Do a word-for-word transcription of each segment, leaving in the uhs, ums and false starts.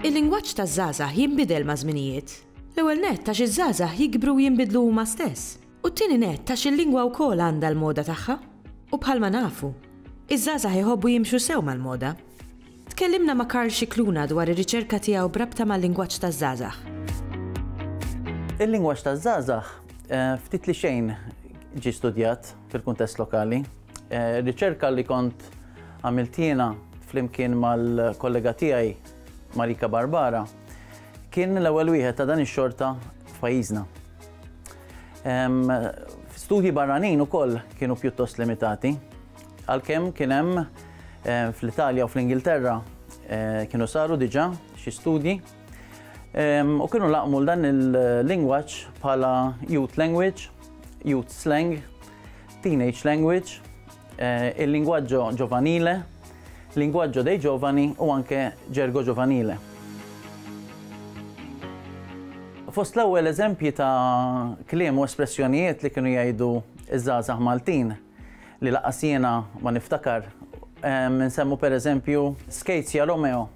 Il-lingwaġġ taż-żgħażagħ jinbidel maż-żminijiet. L-ewwel nett għax iż-żgħażagħ jikbru u jinbidlu huma stess. U t-tieni nett għax il-lingwa wkoll għandha l-moda tagħha. U bħalma nafu, iż-żgħażagħ iħobbu jimxu sew mal-moda. Tkellimna ma' Karl Scicluna dwar ir-riċerka tiegħu b'rabta mal-lingwaġġ taż-żgħażagħ. Il-lingwaġġ taż-żgħażagħ eh, ftit li xejn ġie studjat fil-kuntest lokali. Eh, riċerka li kont għamilt jiena flimkien mal-kollega tiegħi Marika Barbara kien l-ewwel wieħed ta' dan ix-xorta f'pajjiżna. Studji barranin ukoll kienu pjuttost limitati, għalkemm kien hemm fl-Italja u fl-Ingilterra kienu saru diġà xi studji u kienu laqmu dan il-lingwaġġ bħala youth language, youth slang, teenage language, il-linguaggio giovanile, linguaggio dei giovani u anke gergo giovanile. Fost l-ewwel eżempji ta' kliem u espressjonijiet li kienu jgħidu iż-żgħażagħ Maltin li lanqas jiena ma niftakar, nsemmu per eżempju Skejzja Romeo,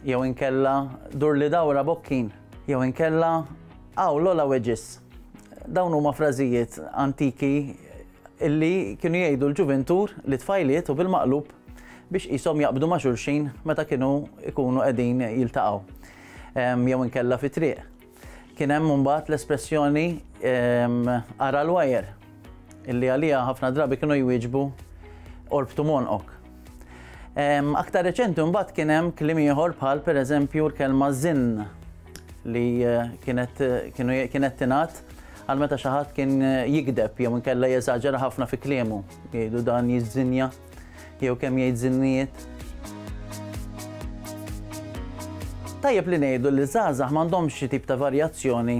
jew inkella Dur li dawra Bokkin, jew inkella Aw Lola Wedges. Dawn huma frażijiet antiki illi kienu jgħidu l-ġuventur li tfajliet u bil-maqlub biex qishom jaqbdu ma' xulxin meta kienu ikunu qegħdin jiltaqgħu jew inkella fi triq. Kien hemm mbagħad l-espressjoni ara l-wajer illi għalija ħafna drabi kienu jwieġbu orbtu monqok. Aktar reċenti mbagħad kien hemm kliem ieħor bħal pereżempju l-kelma żinn li kienet kienet tingħad għal meta xi ħadd kien jikdeb jew inkella jeżaġera ħafna fi kliemu, jgħidu dan jiżżinja jew kemm jgħid żinnijiet. Tajjeb li ngħidu li żgħażagħ m'għandhomx xi tip ta' varjazzjoni,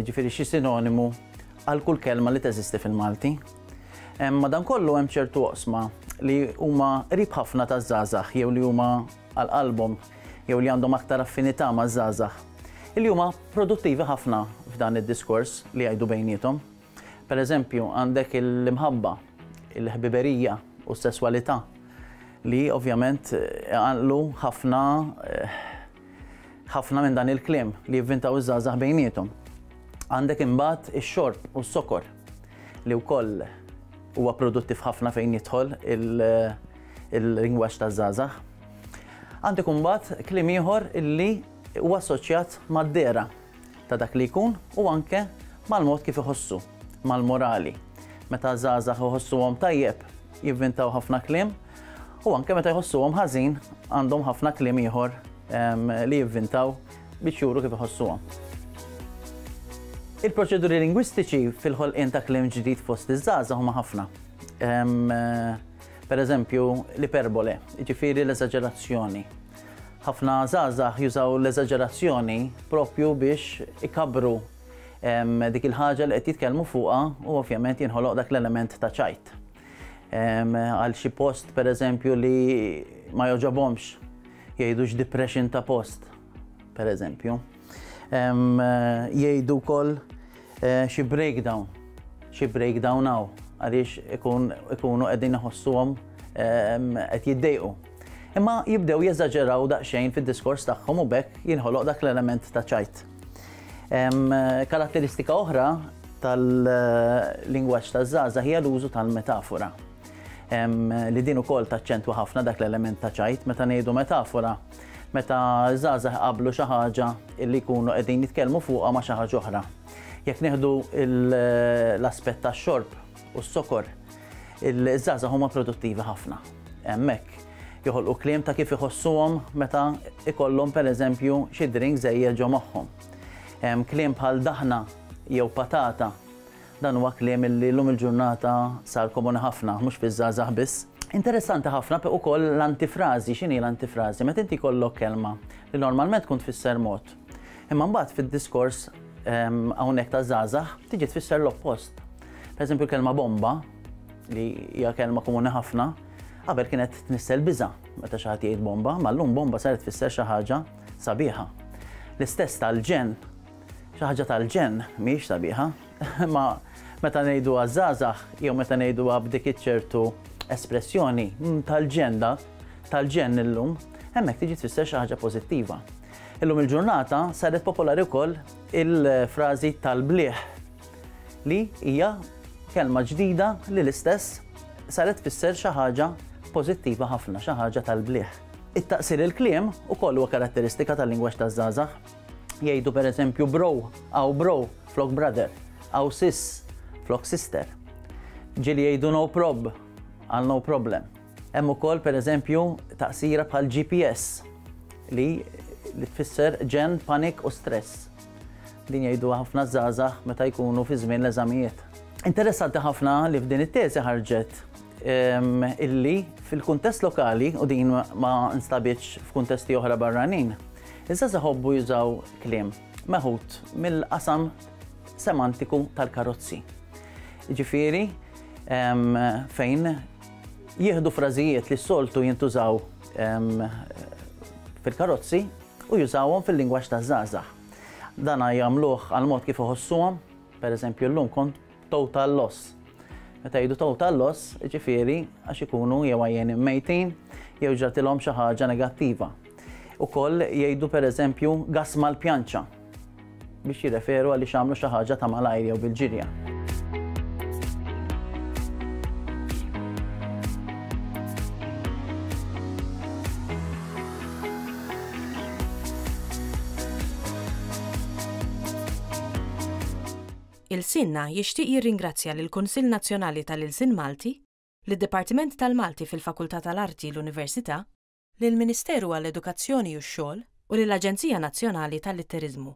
ġifieri xi sinonimu għal kull kelma li teżisti fil-Malti. Madankollu hemm ċertu oqsma li huma qrib ħafna taż-żgħażagħ jew li huma għal qalbhom jew li għandhom aktar affinità maż-żgħażagħ, illi huma produttivi ħafna f'dan id-diskors li jgħidu bejniethom. Per eżempju, għandek l-imħabba, il-ħbiberija u s-sesswalità li ovvjament għanqlu ħafna ħafna minn dan il-kliem li jivvintaw iż-żgħażagħ bejniethom. Għandek imbagħad ix-xorb u s-sokor li wkoll huwa produttiv ħafna fejn jidħol il-lingwaġġ taż-żgħażagħ. Għandek imbagħad kliem ieħor illi huwa assoċjat mad-dehra ta' dak li jkun u anke mal-mod kif iħossu, mal-morali. Meta żgħażagħ iħossuhom tajjeb jivvintaw ħafna kliem u anke meta jħossuhom ħażin għandhom ħafna kliem ieħor li jivvintaw biex juru kif iħossuhom. Il-proċeduri lingwistiċi fil-ħolqien ta' kliem ġdid fost iż-żgħażagħ huma ħafna. Per eżempju, l-iperbole, jiġifieri l-eżaġerazzjoni. Ħafna żgħażagħ jużaw l-eżaġerazzjoni propju biex ikabru dik il-ħaġa li qed jitkellmu fuqha u ovvjament jinħoloq dak l-element ta' ċajt. Għal xi post per eżempju li ma joġobhomx jgħidu depression ta' post, per eżempju. Jgħidu wkoll xi breakdown, xi breakdown hawn għaliex ikunu qegħdin iħossuhom qed jiddejqu. Imma jibdew jeżaġeraw daqsxejn fid-diskors tagħhom u b'hekk jinħoloq dak l-element ta' ċajt. Karatteristika oħra tal-lingwaġġ taż-żgħażagħ hija l-użu tal-metafora. Li din ukoll taċċentwa ħafna dak l-element ta' ċajt. Meta ngħidu metafora, meta żgħażagħ qablu xi ħaġa li jkunu qegħdin jitkellmu fuqha ma' xi ħaġa oħra. Jekk nieħdu l-aspett tax-xorb u s-sokor, iż-żgħażagħ huma produttivi ħafna. Hemmhekk joħolqu kliem ta' kif iħossuhom meta ikollhom pereżempju xi drink żejjed ġo moħħhom. Kliem bħal daħna jew patata, dan huwa kliem li llum il-ġurnata sar komuni ħafna, mhux fiż-żgħażagħ biss. Interessanti ħafna ukoll l-antifrażi. X'inhi l-antifrażi? Meta inti jkollok kelma li normalment tkun tfisser mod, imma mbagħad fid-diskors hawnhekk taż-żgħażagħ tiġi tfisser l-oppost. Per eżempju, kelma bomba, li hija kelma komuni ħafna, qabel kienet tnissel biża' meta xi ħadd jgħid bomba, ma llum bomba saret tfisser xi ħaġa sabiħa. L-istess tal-ġenn, xi ħaġa tal-ġenn mhijiex sabiħa, ma meta ngħiduha żgħażagħ jew meta ngħiduha b'dik iċ-ċertu espressjoni mm, tal-ġenn da, tal-ġenn illum, hemmhekk tiġi tfisser xi ħaġa pożittiva. Illum il-ġurnata saret popolari wkoll il-frażi tal-bliħ li hija kelma ġdida li l-istess saret tfisser xi ħaġa pożittiva ħafna, xi ħaġa tal-bliħ. It-taqsir il-kliem ukoll huwa karatteristika tal-lingwaġġ taż-żgħażagħ. Jgħidu pereżempju bro, aw bro, flok brother, aw sis, flok sister. Ġieli jgħidu no prob, għal no problem. Hemm ukoll pereżempju taqsira bħal G P S li li tfisser ġenn, panic u stress. Din jgħidu ħafna żgħażagħ meta jkunu fi żmien l-eżamijiet. Interessanti ħafna li f'din it-teżi ħarġet illi fil-kuntest lokali, u din ma nstabitx f'kuntesti oħra barranin, iż-żgħażagħ iħobbu jużaw kliem meħud mill-qasam semantiku tal-karozzi. Ġifieri, fejn jieħdu frażijiet li s-soltu jintużaw fil-karozzi u jużawhom fil-lingwaġġ taż-żgħażagħ. Dana jagħmluh għal mod kif iħossuhom, pereżempju llum kont total loss. Meta jgħidu total loss, ġifieri għax ikunu jew għajjenin mejtin jew ġratilhom xi ħaġa negattiva. Ukoll jgħidu, pereżempju, gas mal-pjanċa biex jirreferu għaliex għamlu xi ħaġa ta' malajr jew bil-ġirja. Ilsienna jixtieq jirringrazzja lill-Kunsill Nazzjonali tal-Ilsien Malti, lid-Dipartiment tal-Malti fil-Fakultà tal-Arti l-Università, lill-Ministeru għall-Edukazzjoni u x-Xogħol u lill-Aġenzija Nazzjonali tal-Litteriżmu.